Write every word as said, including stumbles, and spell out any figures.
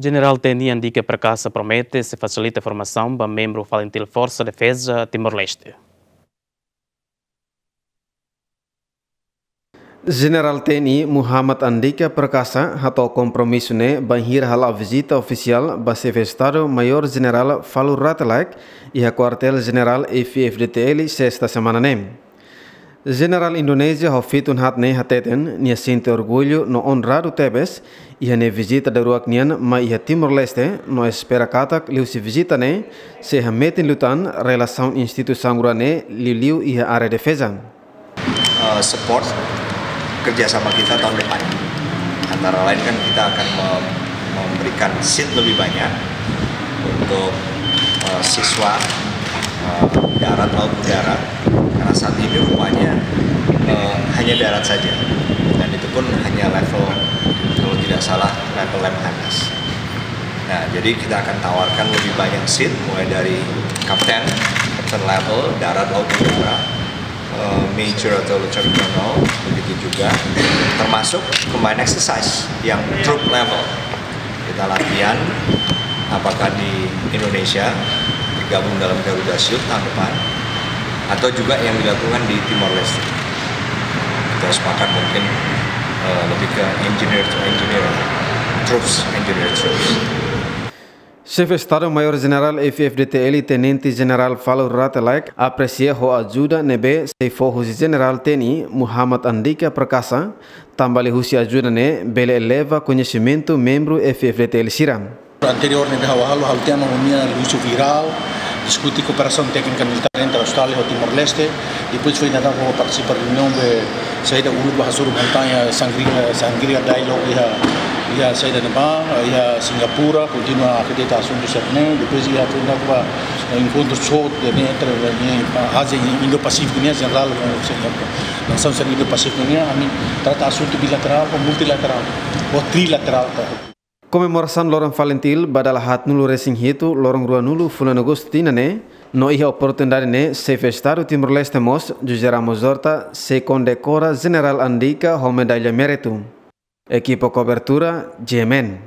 Jenerál T N I Andika Perkasa promete sei fasilita formasaun ba membru FALINTIL Forsa Defeza Timor-Leste. Jenerál T N I Muhammad Andika Perkasa hato'o kompromisu ne'e bainhira hala'o vizita ofisiál ba Xefe Estadu Maiór Jenerál Falur Rate Laek iha Kuartél Jenerál F-FDTL sesta semana ne'e. Jenerál Indonézia ho fitun haat ne'e hateten nia sente orgullu no onradu tebes iha nia vizita daruak nian mai iha Timor-Leste no espera katak liuhusi vizita ne'e sei hametin liután relasaun instituisaun rua ne'e liuliu iha área defeza. Eh, support kerjasama kita tahun depan. Antara lain kan kita akan mem-, memberikan seat lebih banyak untuk, eh, siswa, eh, darat, laut, udara. Karena saat ini rupanya, eh, hanya darat saja. Dan itu pun hanya level, kalau tidak salah, level Lemhanas. Nah, jadi kita akan tawarkan lebih banyak seat, mulai dari kapten, kapten level, darat, laut, udara, eh, major atau lieutenant colonel, begitu juga, termasuk combined exercise yang troop level. Kita latihan apakah di Indonesia bergabung dalam Garuda Shield tahun depan, atau juga yang dilakukan di Timor Leste. Kita sepakat mungkin, eh, lebih ke engineer to engineer, troops, engineer troops. Xefe Estadu Maiór Jenerál F-FDTL Tenente Jenerál Falur Rate Laek apresia ho ajuda ne'ebé sei fó husi Jenerál T N I Muhammad Andika Perkasa, tanba liuhusi ajuda ne'e bele eleva koñesimentu membru F-FDTL sira. Anteriór ne'ebé ha'u halo, ha'u tiha ona reuniaun liuhusi virál, diskute kooperasaun téknika militár entre Austrália ho Timor-Leste. Depois foin dadaun ha'u partisipa reuniaun be saida uluk ba hasoru montaña Shangri-La, Shangri-La Dialogue iha, iha saida ne'ebá, iha Singapura, kontinua akredita asuntu sira-ne'e. Depois iha foin dadaun ba enkontru SOT ne'e entre, ne'e, Ázia Indo-Pasífiku nian, jenerál, eh, nasaun sira Indo-Pasífiku nian, ami trata asuntu bilaterál ou multilaterál ou trilaterál, tá? Komemorasaun Loron FALINTIL ba dala haatnulu-resin-hitu, loron ruanulu fulan Agostu tinan ne'e, no iha oportunidade ne'e, Xefe Estadu Timor-Leste mós, José Ramos Horta, sei kondekora Jenerál Andika ho medalla méritu. Ekipa kobertura, G M N.